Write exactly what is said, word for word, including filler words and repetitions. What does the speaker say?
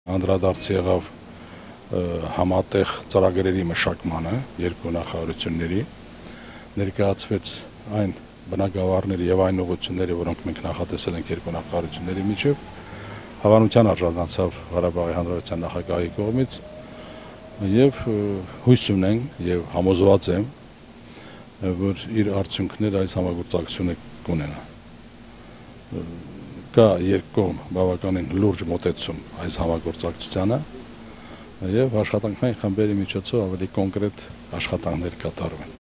Անդրադարձ եղավ համատեղ ծրագրերի մշակմանը երկու նախարարությունների, ներկայացվեց այն բնագավառների եւ այն ուղղությունները, որոնք մենք նախատեսել ենք երկու նախարարությունների միջև, հավանության արժանացավ Ղարաբաղի Հանրապետության նախագահի կողմից եւ հույս ունենք եւ համոզված եմ, որ իր արդյունքները այս համագործակցությունը կունենա։ Կա երկկողմ բավականին լուրջ մոտեցում այս համագործակցությանը եւ աշխատանքային խմբերի միջոցով ավելի կոնկրետ աշխատանքներ կատարվեն։